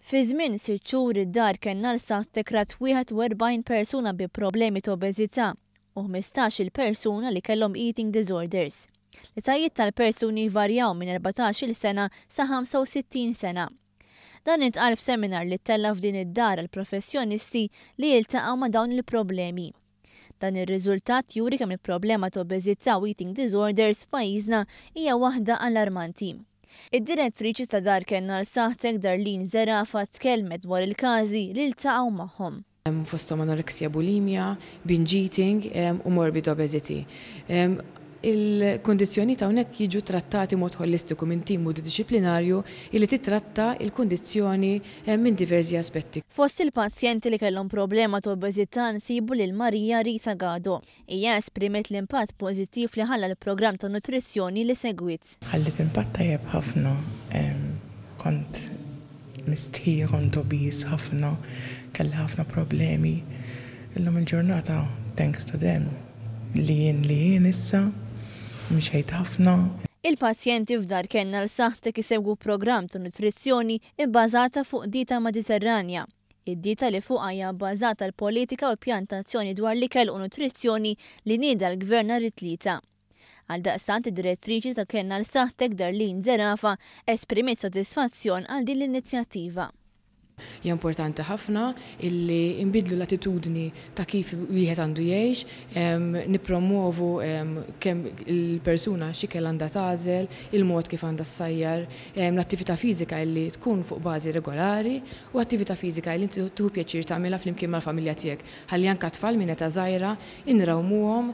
Fi żmien 6 xhur id-dar Kenn għal Saħħtek rat 41 persuna bi problemi ta' obeżità u 15-il persuna li kellhom eating disorders. L-etajiet tal-persuni varjaw minn 14-il sena sa 65 sena. Dan intqal f'seminar li ttella' f'din id-dar għal professjonisti li jiltaqgħu ma' dawn il-problemi. Dan ir-riżultat juri kemm il-problema ta' obeżità u eating disorders f'pajjiżna hija waħda allarmanti. Id-direttriċi ta' Dar Kenn għal Saħħtek, Darlene Zerafa, tkellmet dwar il-każi li ltaqgħu magħhom. Fosthom anorexia, bulimia, binge eating u morbid obesity. Il-kundizzjoni ta' hawnhekk jiġu trattati mod holistiku minn tim multidisciplinarju illi titratta il-kundizzjoni minn diversi aspetti. Fost il-pazjenti li kellhom problema ta' obeżità nsibu lil Marija Rita Gado. Hija esprimiet l-impatt pożittiv li ħalla l-programm ta' nutrizzjoni li segwit. Ħallit impatt tajjeb ħafna. Kont mistħija, kont obese ħafna, kelli ħafna problemi. Illum il-ġurnata, thanks to them, li jien issa, mxejt ħafna. Il-pazjenti f'Dar Kenn għal Saħħtek isegwu programm ta' nutrizzjoni ibbażata fuq dieta Mediterranja. Id-dieta li fuqha hija bbażata l-politika u l-pjantazzjoni dwar l-ikel u nutrizzjoni li nieda l-Gvern nhar it-Tlieta. Għaldaqstant, id-direttriċi ta' Kenn għal Saħħtek, Darlene Zerafa, esprimiet sodisfazzjon għal din l-inizjattiva. Hija importanti ħafna illi nbidlu l-attitudni ta' kif wieħed għandu jgħix, nippromovu kemm il-persuna x'ikel għandha tagħżel, il-mod kif għandha ssajjar, l-attività fiżika illi tkun fuq bażi regolari u attività fiżika illi inti tieħu pjaċir tagħmilha flimkien mal-familja tiegħek. Ħalli anke tfal minn età żgħira inrawmuhom.